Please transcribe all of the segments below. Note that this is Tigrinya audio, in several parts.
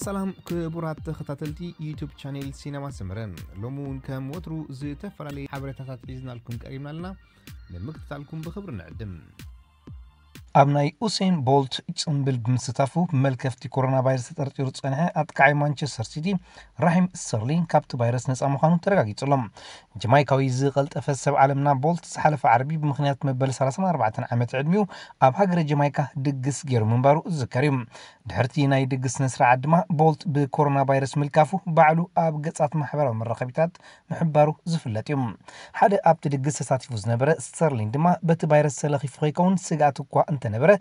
ሰላም ክቡራት ተኸታተልቲ ዩቱብ ቻኔል ሲነማ ሰመረ፣ ሎሚ እውን ከም ወትሩ ዝተፈላለዩ ሓበሬታታት ሒዝናልኩም ቀሪብና ኣለና። ንምክትታልኩም ብኽብሪ ንዕድም። ኣብ ናይ ኡሴን ቦልት ጽምብል ብምስታፉ ብመልከፍቲ ኮሮና ቫይረስ ተጠርጢሩ ዝጸንሐ ኣጥቃዓይ ማንቸስተር ሲቲ ራሂም ስተርሊንግ ካብቲ ቫይረስ ነጻ ምዃኑ ተረጋጊጹ ኣሎ። ጀማይካዊ ዝቐልጠፈ ሰብ ዓለምና ቦልት ዝሓለፈ ዓርቢ ብምኽንያት መበል ሰላሳን ኣርባዕተን ዓመት ዕድሚኡ ኣብ ሃገረ ጀማይካ ድግስ ገይሩ ምንባሩ ዝዝከር እዩ። ድሕርቲ ናይ ድግስ ስነ ስርዓት ድማ ቦልት ብኮሮና ቫይረስ ምልካፉ ባዕሉ ኣብ ገጻት ማሕበራዊ መራኸቢታት ምሕባሩ ዝፍለጥ እዩ። ሓደ ኣብቲ ድግስ ተሳቲፉ ዝነበረ ስተርሊን ድማ በቲ ቫይረስ ተለኺፉ ከይከውን ስግኣት እኳ እንተነበረ፣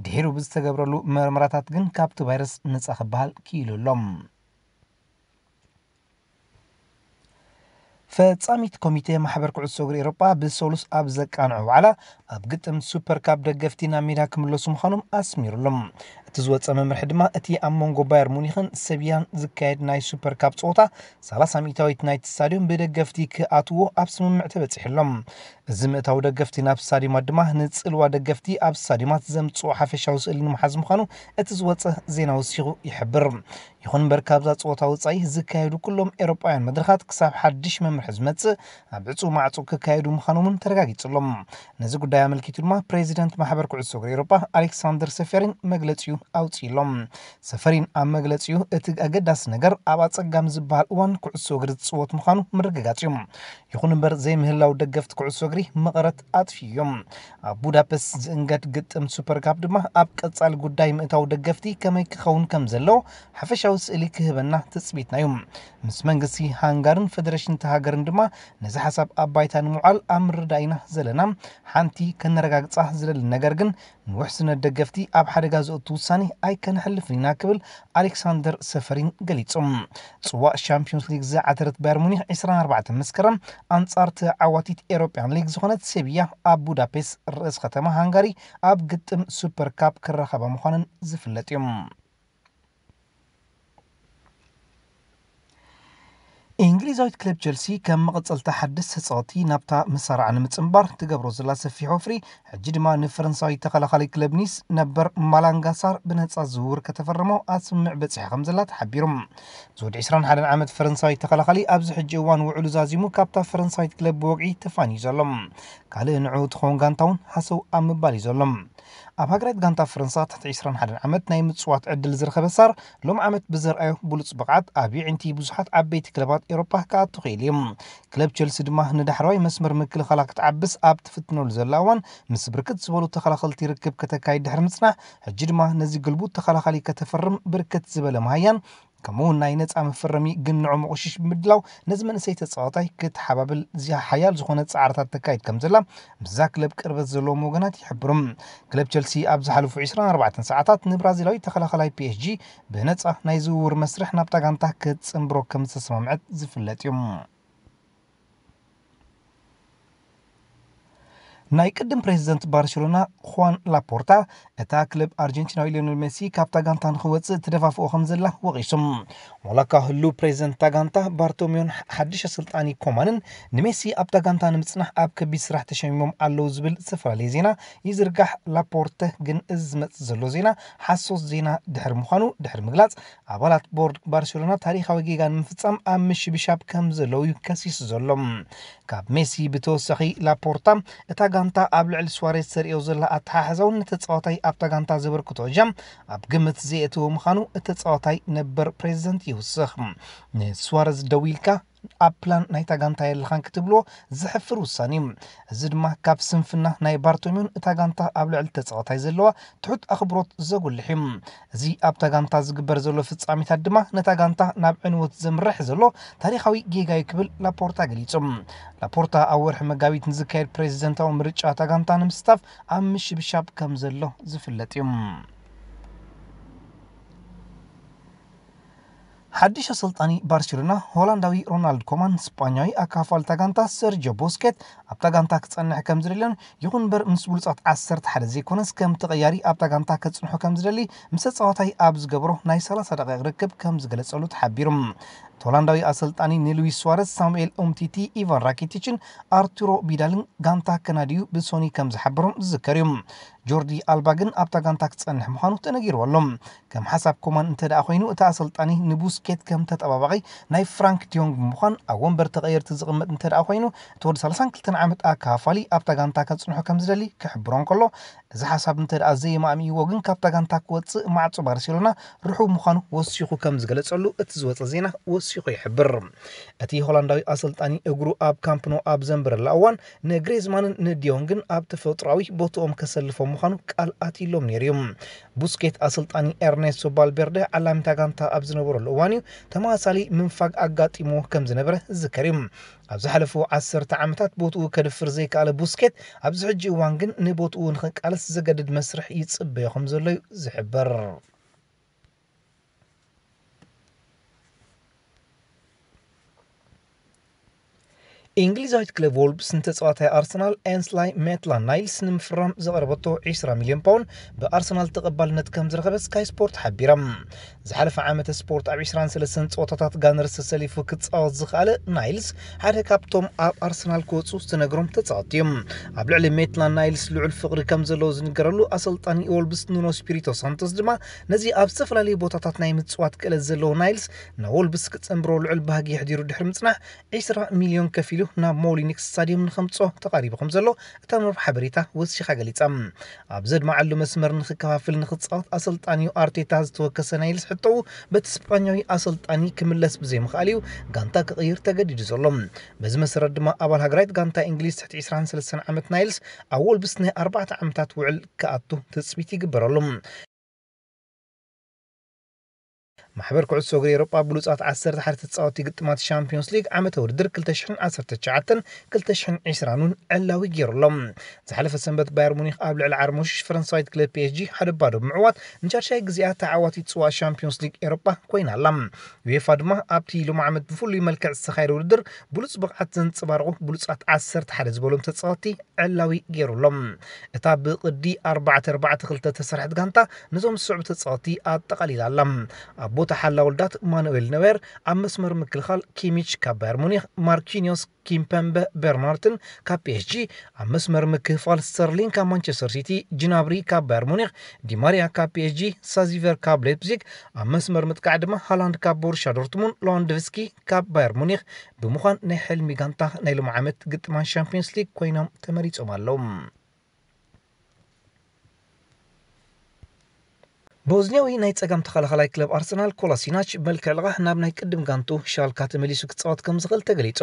ድሒሩ ብዝተገብረሉ መርመራታት ግን ካብቲ ቫይረስ ነጻ ክበሃል ክኢሉ ኣሎ። ፈጻሚት ኮሚቴ ማሕበር ኩዕሶ እግሪ ኤውሮጳ ብሰሉስ ኣብ ዘቃንዖ ዋዕላ ኣብ ግጥም ሱፐር ካፕ ደገፍቲ ናብ ሜዳ ክምለሱ ምዃኖም ኣስሚሩሎም። እቲ ዝወጸ መምርሒ ድማ እቲ ኣብ መንጎ ባየር ሙኒኽን ሰቪያን ዝካየድ ናይ ሱፐር ካፕ ጸወታ ሰላሳ ሚእታዊት ናይቲ ስታድዮም ብደገፍቲ ክኣትዎ ኣብ ስምምዕ ተበጺሑ ኣሎ። እዚ ምእታው ደገፍቲ ናብ ስታድዮማት ድማ ንጽልዋ ደገፍቲ ኣብ ስታድዮማት ዘምጽኦ ሓፈሻዊ ስእሊ ንምሓዝ ምዃኑ እቲ ዝወጸ ዜና ወሲኹ ይሕብር። ይኹን እምበር ካብዛ ጸወታ ወጻኢ ዝካየዱ ኩሎም ኤውሮጳውያን መድረኻት ክሳብ ሓድሽ መምርሒ ዝመጽእ ኣብ ዕጹው ማዕጹ ክካየዱ ምዃኖምን ተረጋጊጹ ኣሎ። ነዚ ጉዳይ ኣመልኪቱ ድማ ፕሬዚደንት ማሕበር ኩዕሶ እግሪ ኤውሮጳ ኣሌክሳንደር ሰፈሪን መግለጺኡ ኣውጺኡ ኣሎ። ሰፈሪን ኣብ መግለጺኡ እቲ ኣገዳሲ ነገር ኣብ ኣጸጋሚ ዝበሃል እዋን ኩዕሶ እግሪ ዝጽወት ምዃኑ ምርግጋጽ እዩ። ይኹን እምበር ዘይምህላው ደገፍቲ ኩዕሶ እግሪ መቐረት ኣጥፊኡ እዮም። ኣብ ቡዳፔስት ዝእንገድ ግጥም ሱፐር ካፕ ድማ ኣብ ቀጻሊ ጉዳይ ምእታው ደገፍቲ ከመይ ክኸውን ከም ዘለዎ ሓፈሻዊ ስእሊ ክህበና ትጽቢትና እዩ። ምስ መንግስቲ ሃንጋርን ፈደሬሽን እታ ሃገርን ድማ ነዚ ሓሳብ ኣብ ባይታ ንምውዓል ኣብ ምርዳእ ኢና ዘለና። ሓንቲ ከነረጋግጻ ዝደሊ ነገር ግን ንውሕስነት ደገፍቲ ኣብ ሓደጋ ዘእቱ ውሳኔ ኣይከነሕልፍን ኢና ክብል ኣሌክሳንደር ሰፈሪን ገሊጹ። ጽዋእ ሻምፒዮንስ ሊግ ዝዓተረት ባየር ሙኒክ ዕስራን ኣርባዕተን መስከረም ኣንጻር ተዓዋቲት ኤሮፕያን ሊግ ዝኾነት ሴቪያ ኣብ ቡዳፔስት ርእስ ከተማ ሃንጋሪ ኣብ ግጥም ሱፐር ካፕ ክራኸባ ምዃነን ዝፍለጥ እዩ። እንግሊዛዊት ክለብ ቸልሲ ከም መቐጸልታ ሓድሽ ተጻወቲ ናብታ መሳርዓ ንምጽንባር ትገብሮ ዘላ ሰፊሕ ወፍሪ፣ ሕጂ ድማ ንፈረንሳዊ ተኸላኻሊ ክለብ ኒስ ነበር ማላንጋ ሳር ብነጻ ዝውውር ከተፈርሞ ኣብ ስምምዕ በጺሓ ከም ዘላ ተሓቢሩ። ዝወዲ ዕስራን ሓደን ዓመት ፈረንሳዊ ተኸላኻሊ ኣብዚ ሕጂ እዋን ውዕሉ ዛዚሙ ካብታ ፈረንሳዊት ክለብ ብወግዒ ተፋንዩ ዘሎ። ካልእ ንዕኡ ትኸውን ጋንታ እውን ሃሰው ኣብ ምባል እዩ ዘሎ። ኣብ ሃገራዊት ጋንታ ፈረንሳ ትሕቲ ዕስራን ሓደን ዓመት ናይ ምጽዋት ዕድል ዝረኸበ ሳር፣ ሎም ዓመት ብዘርኣዮ ብሉጽ ብቕዓት ኣብ የዒንቲ ብዙሓት ዓበይቲ ክለባት ኤውሮጳ ክኣቱ ክኢሉ እዩ። ክለብ ቸልሲ ድማ ንዳሕረዋይ መስመር ምክልኻላ ክትዓብስ ኣብ ትፍትነሉ ዘላ እዋን፣ ምስ ብርክት ዝበሉ ተኸላኸልቲ ርክብ ከተካይድ ድሕሪ ምጽናሕ፣ ሕጂ ድማ ነዚ ግልቡጥ ተኸላኻሊ ከተፈርም ብርክት ዝበለ መሃያን ከምኡ እውን ናይ ነጻ መፈረሚ ግንዖ መቑሽሽ ብምድላው ነዚ መንእሰይ ተጻዋታይ ክትሓባብል ዝያ ሓያል ዝኾነ ጻዕርታት ተካይድ ከም ዘላ ምስዛ ክለብ ቅርበት ዘለዎም ወገናት ይሕብሩ። ክለብ ቸልሲ ኣብ ዝሓለፉ ዕስራን ኣርባዕተን ሰዓታት ንብራዚላዊ ተኸላኸላይ ፒ ኤስ ጂ ብነጻ ናይ ዝውውር መስርሕ ናብታ ጋንታ ክትጽንብሮ ከም ዝተሰማምዐት ዝፍለጥ እዩ። ናይ ቅድም ፕሬዚደንት ባርሴሎና ኹዋን ላፖርታ እታ ክለብ ኣርጀንቲናዊ ሊዮኔል ሜሲ ካብታ ጋንታ ንኽወጽእ ትደፋፍኦ ከም ዘላ ወቒሶም። ዋላ እኳ ህሉው ፕሬዚደንት እታ ጋንታ ባርቶሚዮን ሓድሽ ኣሰልጣኒ ኮማንን ንሜሲ ኣብታ ጋንታ ንምጽናሕ ኣብ ከቢድ ስራሕ ተሸሚሞም ኣለዉ ዝብል ዝተፈላለየ ዜና ይዝርጋሕ፣ ላፖርተ ግን እዚ ዝመጽእ ዘሎ ዜና ሓሶት ዜና ድሕሪ ምዃኑ ድሕሪ ምግላጽ፣ ኣባላት ቦርድ ባርሴሎና ታሪኻዊ ጌጋ ንምፍጻም ኣብ ምሽብሻብ ከም ዘለዉ እዩ ከሲሱ ዘሎ። ካብ ሜሲ ብተወሳኺ ላፖርታ እታ ጋንታ ኣብ ልዕሊ ሱዋሬዝ ተርእዮ ዘላ ኣተሓሕዛውን ንተጻዋታይ ኣብታ ጋንታ ዘበርክቶ እጃም ኣብ ግምት ዘየእተወ ምዃኑ እቲ ተጻዋታይ ነበር ፕሬዚደንት ይውስኽ። ንሱዋሬዝ ደው ኢልካ ኣብ ፕላን ናይታ ጋንታ የለኻን ክትብልዎ ዘሕፍር ውሳኔ እዩ። እዚ ድማ ካብ ስንፍና ናይ ባርቶሚዮን እታ ጋንታ ኣብ ልዕሊ ተጻዋታይ ዘለዋ ትሑት ኣኽብሮት ዘጉልሕ እዩ። እዚ ኣብታ ጋንታ ዝግበር ዘሎ ፍጻሜታት ድማ ነታ ጋንታ ናብ ዕንወት ዘምርሕ ዘሎ ታሪኻዊ ጌጋ እዩ ክብል ላፖርታ ገሊጹ። ላፖርታ ኣብ ወርሒ መጋቢት ንዝካየድ ፕሬዚደንታዊ ምርጫ እታ ጋንታ ንምስታፍ ኣብ ምሽብሻብ ከም ዘሎ ዝፍለጥ እዩ። ሓድሽ ኣሰልጣኒ ባርሴሎና ሆላንዳዊ ሮናልድ ኮማን ስጳኛዊ ኣካፋልታ ጋንታ ሰርጆ ቦስኬት ኣብታ ጋንታ ክጸንሕ ከም ዝደልዮን ይኹን እምበር ምስ ብሉጻት ዓሰርተ ሓደ ዘይኮነስ ከም ተቐያሪ ኣብታ ጋንታ ከጽንሖ ከም ዝደሊ ምስ ተጻዋታይ ኣብ ዝገብሮ ናይ ሰላሳ ደቂቕ ርክብ ከም ዝገለጸሉ ተሓቢሩ። ሆላንዳዊ ኣሰልጣኒ ንሉዊስ ስዋረዝ፣ ሳሙኤል ኡምቲቲ፣ ኢቫን ራኪቲችን ኣርቱሮ ቢዳልን ጋንታ ከናድዩ ብሶኒ ከም ዝሓበሮም ዝዝከር እዩ። ጆርዲ ኣልባ ግን ኣብታ ጋንታ ክጸንሕ ምዃኑ ተነጊርዎ ኣሎ። ከም ሓሳብ ኮማን እንተ ደኣ ኮይኑ፣ እቲ ኣሰልጣኒ ንቡስኬት ከም ተጠባባቒ ናይ ፍራንክ ዲዮንግ ብምዃን ኣብ ወንበር ተቐየርቲ ዝቕመጥ እንተ ደኣ ኮይኑ፣ እቲ ወዲ ሰላሳን ክልተን ዓመት ኣካፋሊ ኣብታ ጋንታ ከጽንሖ ከም ዝደሊ ክሕብሮ እንከሎ፣ እዚ ሓሳብ እንተ ደኣ ዘይማእሚእዎ ግን ካብታ ጋንታ ክወጽእ ማዕጾ ባርሴሎና ርሑው ምዃኑ ወሲኹ ከም ዝገለጸሉ እቲ ዝወጸ ዜና ወሲኹ ይሕብር። እቲ ሆላንዳዊ ኣሰልጣኒ እግሩ ኣብ ካምፕ ኖ ኣብ ዘንበረላ እዋን ንግሬዝማንን ንዲዮንግን ኣብ ተፈጥሮኣዊ ቦትኦም ከሰልፎም ምዃኑ ቃል ኣትይሎም ነይሩ እዩ። ቡስኬት ኣሰልጣኒ ኤርኔስቶ ቫልቬርደ ዓላሚታ ጋንታ ኣብ ዝነበረሉ እዋን እዩ ተመሳሳሊ ምንፋግ ኣጋጢምዎ ከም ዝነበረ ዝዝከር እዩ። ኣብ ዝሓለፉ ዓሰርተ ዓመታት ቦትኡ ከድፍር ዘይከኣለ ቡስኬት ኣብዚ ሕጂ እዋን ግን ንቦትኡ ንኽቃለስ ዘገድድ መስርሕ ይጽበዮ ከም ዘሎ እዩ ዝሕበር። እንግሊዛዊት ክለብ ዎልቭስ ንተጻዋታይ ኣርሰናል ኤንስላይ ሜትላን ናይልስ ንምፍራም ዘቕረበቶ ዕስራ ሚልዮን ፓውንድ ብኣርሰናል ተቐባልነት ከም ዝረኸበ ስካይ ስፖርት ሓቢራ። ዝሓለፈ ዓመተ ስፖርት ኣብ ዕስራን ሰለስተን ጸወታታት ጋነርስ ተሰሊፉ ክጻወት ዝኸኣለ ናይልስ ሓደ ካብቶም ኣብ ኣርሰናል ክወጹ ዝተነግሮም ተጻወትቲ እዮም። ኣብ ልዕሊ ሜትላን ናይልስ ልዑል ፍቕሪ ከም ዘለዎ ዝንገረሉ ኣሰልጣኒ ዎልቭስ ኑኖ ስፒሪቶ ሳንቶስ ድማ ነዚ ኣብ ዝተፈላለዩ ቦታታት ናይ ምጽዋት ክእለት ዘለዎ ናይልስ ናብ ዎልቭስ ክጸንብሮ ልዑል ባህጊ የሕዲሩ ድሕሪ ምጽናሕ ዕስራ ሚልዮን ከፊሉ ናብ ሞሊኒክ ስታዲየም ንኸምጽኦ ተቓሪቡ ከም ዘሎ እታ መርብ ሓበሬታ ወሲኻ ገሊጻ። ኣብ ዘድማዓሉ መስመር ንኽከፋፍል ንኽጻወት ኣሰልጣኒኡ ኣርቴታ ዝተወከሰ ናይልስ ሕቶኡ በቲ ስጳኛዊ ኣሰልጣኒ ክምለስ ብዘይምኽኣል እዩ ጋንታ ክቕይር ተገዲዱ ዘሎ። በዚ መሰረት ድማ ኣባል ሃገራዊት ጋንታ እንግሊዝ ትሕቲ ዕስራን ሰለስተን ዓመት ናይልስ ኣብ ዎልቭስ ናይ ኣርባዕተ ዓመታት ውዕል ክኣቱ ትጽቢት ይግበረሉ። ማሕበር ኩዕሶ እግሪ ኤውሮጳ ብሉጻት ዓሰርተ ሓደ ተጻወትቲ ግጥማት ሻምፒዮንስ ሊግ ዓመተ ውድድር ክልተ ሽሕን ዓሰርተ ትሽዓተን ክልተ ሽሕን ዕስራን እውን ዕላዊ ገይሩ ኣሎ። ዝሓለፈ ሰንበት ባየር ሙኒክ ኣብ ልዕሊ ዓርሞሽሽ ፈረንሳዊት ክለብ ፒ ኤስ ጂ ሓደ ባዶ ብምዕዋት ንሻድሻይ ግዜኣ ተዓዋቲት ጽዋእ ሻምፒዮንስ ሊግ ኤውሮጳ ኮይና ኣላ። ዩኤፋ ድማ ኣብቲ ሎሚ ዓመት ብፍሉይ መልክዕ ዝተኻየደ ውድድር ብሉጽ ብቕዓት ዘንጸባረቑ ብሉጻት ዓሰርተ ሓደ ዝበሎም ተጻወትቲ ዕላዊ ገይሩ ኣሎ። እታ ብቕዲ ኣርባዕተ ኣርባዕተ ክልተ ተሰርሐት ጋንታ ነዞም ዝስዕቡ ተጻወትቲ ኣጠቓሊላ ኣላ። ኣብ ቦታ ሓላ ወልዳት ማኑኤል ነዌር፣ ኣብ መስመር ምክልኻል ኪሚች ካብ ባየር ሙኒክ፣ ማርኪኒዮስ ኪምፐምበ በርናርትን ካብ ፒ ኤስ ጂ፣ ኣብ መስመር ምክፍፋል ስተርሊንግ ካብ ማንቸስተር ሲቲ፣ ጅናብሪ ካብ ባየር ሙኒክ፣ ዲማርያ ካብ ፒ ኤስ ጂ፣ ሳዚቨር ካብ ሌፕዚግ፣ ኣብ መስመር ምጥቃዕ ድማ ሃላንድ ካብ ቦሩሻ ዶርትሙንድ፣ ሎዋንዶቭስኪ ካብ ባየር ሙኒክ ብምዃን ናይ ሕልሚ ጋንታ ናይ ሎሚ ዓመት ግጥማት ሻምፒዮንስ ሊግ ኮይኖም ተመሪጾም ኣለዉ። ቦዝኒያዊ ናይ ጸጋም ተኸላኸላይ ክለብ ኣርሰናል ኮላሲናች መልክዕ ልቓሕ ናብ ናይ ቅድም ጋንቱ ሻልካ ተመሊሱ ክጻወት ከም ዝኽእል ተገሊጹ።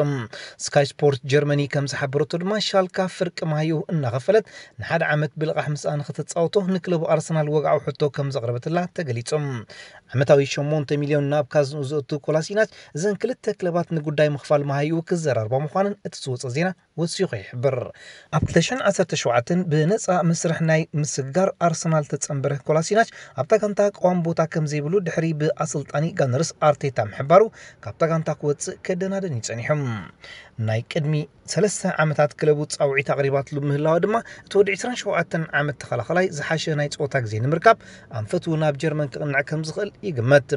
ስካይ ስፖርት ጀርመኒ ከም ዝሓበረቶ ድማ ሻልካ ፍርቂ መሃይኡ እናኸፈለት ንሓደ ዓመት ብልቓሕ ምስኣ ንኽትጻወቶ ንክለቡ ኣርሰናል ወግዓዊ ሕቶ ከም ዘቕረበትላ ተገሊጹ። ዓመታዊ ሸሞንተ ሚልዮን ናብ ካዝንኡ ዘእቱ ኮላሲናች እዘን ክልተ ክለባት ንጉዳይ ምኽፋል መሃይኡ ክዘራርባ ምዃነን እቲ ዝወጸ ዜና ወሲኹ ይሕብር። ኣብ ክልተ ሽሕን ዓሰርተ ሸውዓተን ብነጻ መስርሕ ናይ ምስግጋር ኣርሰናል ተጸንበረ ኮላሲናች ኣብታ ጋንታ ቀዋሚ ቦታ ከም ዘይብሉ ድሕሪ ብኣሰልጣኒ ጋነርስ ኣርቴታ ምሕባሩ ካብታ ጋንታ ክወጽእ ከደናደን እዩ ጸኒሑ። ናይ ቅድሚ ሰለስተ ዓመታት ክለቡ ጻውዒት ኣቕሪባትሉ ምህላዋ ድማ እቲ ወዲ ዕስራን ሸውዓተን ዓመት ተኸላኸላይ ዝሓሸ ናይ ጸወታ ግዜ ንምርካብ ኣንፈቱ ናብ ጀርመን ክቕንዕ ከም ዝኽእል ይግመት።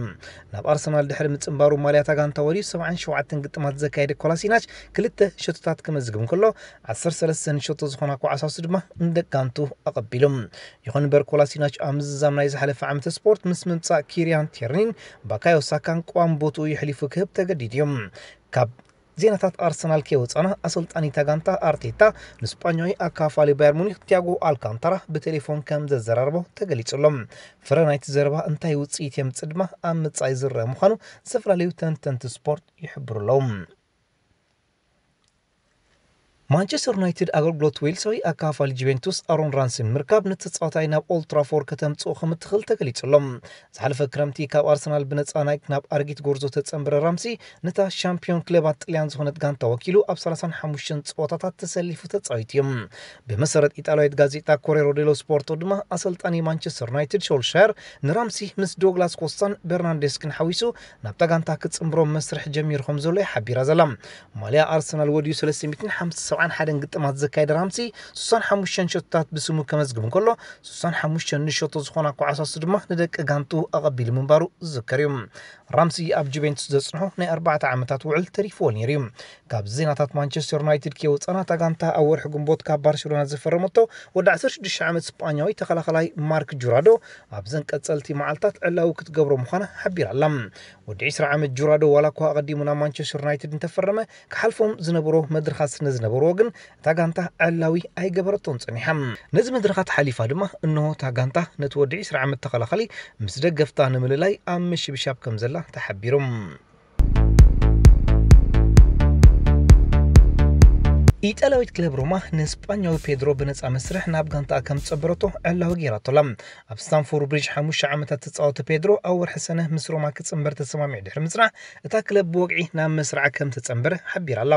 ናብ ኣርሰናል ድሕሪ ምጽንባሩ ማልያታ ጋንታ ወርዩ ሰብዓን ሸውዓተን ግጥማት ዘካየደ ኮላሲናች ክልተ ሸቶታት ክመዝግብ እንከሎ ዓሰርተ ሰለስተን ሸቶ ዝኾና ኳዕሳሱ ድማ ንደቂ ጋንቱ ኣቐቢሉ። ይኹን እምበር ኮላሲናች ኣብ ምዝዛም ናይ ዝሓለፈ ዓመተ ስፖርት ምስ ምምጻእ ኪሪያን ቴርኒን ባካዮ ሳካን ቀዋሚ ቦትኡ የሕሊፉ ክህብ ተገዲዱ እዩ። ካብ ዜናታት ኣርሰናል ከይወጻና ኣሰልጣኒታ ጋንታ ኣርቴታ ንስጳኛዊ ኣካፋሊ ባየር ሙኒክ ቲያጎ ኣልካንታራ ብቴሌፎን ከም ዘዘራርቦ ተገሊጹ ኣሎ። ፍረ ናይቲ ዘረባ እንታይ ውጽኢት የምጽእ ድማ ኣብ ምጻኢ ዝረአ ምዃኑ ዝተፈላለዩ ተንተንቲ ስፖርት ይሕብሩ ኣለዉ። ማንቸስተር ዩናይትድ ኣገልግሎት ዌልሳዊ ኣካፋሊ ጁቬንቱስ ኣሮን ራምሲ ንምርካብ ነቲ ተጻዋታይ ናብ ኦልድ ትራፎርድ ከተምጽኦ ከም እትኽእል ተገሊጹ ኣሎ። ዝሓለፈ ክረምቲ ካብ ኣርሰናል ብነጻ ናይ ናብ ኣረጊት ጎርዞ ተጸንበረ ራምሲ ነታ ሻምፒዮን ክለባት ጥልያን ዝኾነት ጋንታ ወኪሉ ኣብ ሰላሳን ሓሙሽተን ጸወታታት ተሰሊፉ ተጻዊቱ እዩ። ብመሰረት ኢጣልያዊት ጋዜጣ ኮሬሮ ዴሎ ስፖርቶ ድማ ኣሰልጣኒ ማንቸስተር ዩናይትድ ሾልሻየር ንራምሲ ምስ ዶግላስ ኮስታን በርናንዴስክን ሓዊሱ ናብታ ጋንታ ክጽንብሮም መስርሕ ጀሚሩ ከም ዘሎ እዩ ሓቢራ ዘላ። ማልያ ኣርሰናል ወድዩ ሰለስተ ሚእትን ሓምሳ ኣርባዓን ሓደን ግጥማት ዘካየደ ራምሲ ስሳን ሓሙሽተን ሸቶታት ብስሙ ከመዝግብ እንከሎ፣ ስሳን ሓሙሽተን ንሸቶ ዝኾና ኳዕሳሱ ድማ ንደቂ ጋንቱ ኣቐቢሉ ምንባሩ ዝዝከር እዩ። ራምሲ ኣብ ጁቬንቱስ ዘጽንሖ ናይ ኣርባዕተ ዓመታት ውዕል ተሪፍዎ ነይሩ እዩ። ካብ ዜናታት ማንቸስተር ዩናይትድ ከይወጻና፣ እታ ጋንታ ኣብ ወርሒ ግንቦት ካብ ባርሴሎና ዝፈረመቶ ወዲ ዓሰርተ ሽዱሽተ ዓመት ስጳኛዊ ተኸላኸላይ ማርክ ጁራዶ ኣብዘን ቀጸልቲ መዓልታት ዕላዊ ክትገብሮ ምዃና ሓቢራ ኣላ። ወዲ ዕስራ ዓመት ጁራዶ ዋላ እኳ ኣቐዲሙ ናብ ማንቸስተር ዩናይትድ እንተፈረመ፣ ክሓልፎም ዝነበሮ መድረኻት ስለ ዝነበርዎ ግን እታ ጋንታ ዕላዊ ኣይገበረቶን ጸኒሓ። ነዚ መድረኻት ሓሊፋ ድማ እንሆ እታ ጋንታ ነቲ ወዲ ዕስራ ዓመት ተኸላኻሊ ምስ ደገፍታ ንምልላይ ኣብ ምሽብሻብ ከም ዘላ ተሓቢሩ። ኢጣልያዊት ክለብ ሮማ ንስጳኛዊ ፔድሮ ብነጻ መስርሕ ናብ ጋንታኣ ከም ዝጸንበረቶ ዕላዊ ገይራቶ ኣላ። ኣብ ስታንፎርድ ብሪጅ ሓሙሽተ ዓመታት ዝተጻወተ ፔድሮ ኣብ ወርሒ ሰነ ምስ ሮማ ክጽንበር ተሰማሚዑ ድሕሪ ምጽናሕ፣ እታ ክለብ ብወግዒ ናብ መስርዓ ከም ዝተጸንበረ ሓቢራ ኣላ።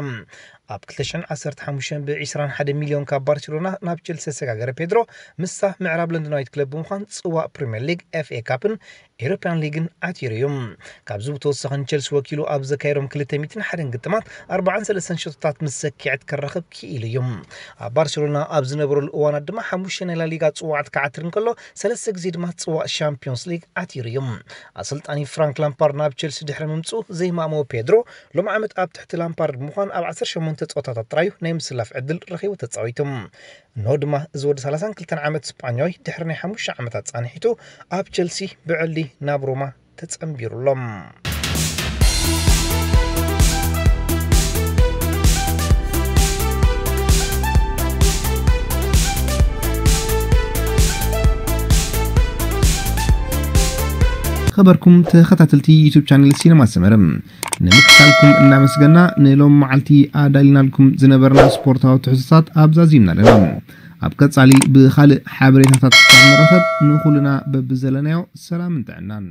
ኣብ ክልተ ሽሕን ዓሰርተ ሓሙሽተን ብዕስራን ሓደን ሚልዮን ካብ ባርሴሎና ናብ ቸልሲ ዘሰጋገረ ፔድሮ፣ ምስታ ምዕራብ ለንደናዊት ክለብ ብምዃን ጽዋእ ፕሪምየር ሊግ፣ ኤፍ ኤ ካፕን ኤሮፕያን ሊግን ዓቲሩ እዩ። ካብዚ ብተወሳኺ ንቸልሲ ወኪሉ ኣብ ዘካየዶም ክልተ ሚእትን ሓደን ግጥማት ኣርባዓን ሰለስተን ሸቶታት ምስ ሰኪዐት ከራኽብ ክኢሉ እዩ። ኣብ ባርሴሎና ኣብ ዝነበረሉ እዋናት ድማ ሓሙሽተ ናይ ላሊጋ ጽዋዓት ክዓትር እንከሎ፣ ሰለስተ ግዜ ድማ ጽዋእ ሻምፒዮንስ ሊግ ዓቲሩ እዩ። ኣሰልጣኒ ፍራንክ ላምፓርድ ናብ ቸልሲ ድሕሪ ምምጽኡ ዘይማእመዎ ፔድሮ፣ ሎም ዓመት ኣብ ትሕቲ ላምፓርድ ብምዃን ኣብ ዓሰርተ ሸሞንተ ጸወታታት ጥራዩ ናይ ምስላፍ ዕድል ረኺቡ ተጻዊቱ። እንሆ ድማ እዚ ወዲ ሰላሳን ክልተን ዓመት ስጳኛዊ ድሕሪ ናይ ሓሙሽተ ዓመታት ጻንሒቱ ኣብ ቸልሲ ብዕሊ ናብ ሮማ ተጸንቢሩ ኣሎ። ኸበርኩም ተኸታተልቲ ዩቱብ ቻነል ሲነማ ሰመረ፣ ንምክታልኩም እናመስገና፣ ንሎም መዓልቲ ኣዳሊናልኩም ዝነበርና ስፖርታዊ ትሕዝቶታት ኣብዛዚምና ኣለና። ኣብ ቀጻሊ ብኻልእ ሓበሬታታት ክሳብ ንራኸብ፣ ንኹልና በብዘለናዮ ሰላምን ጥዕናን።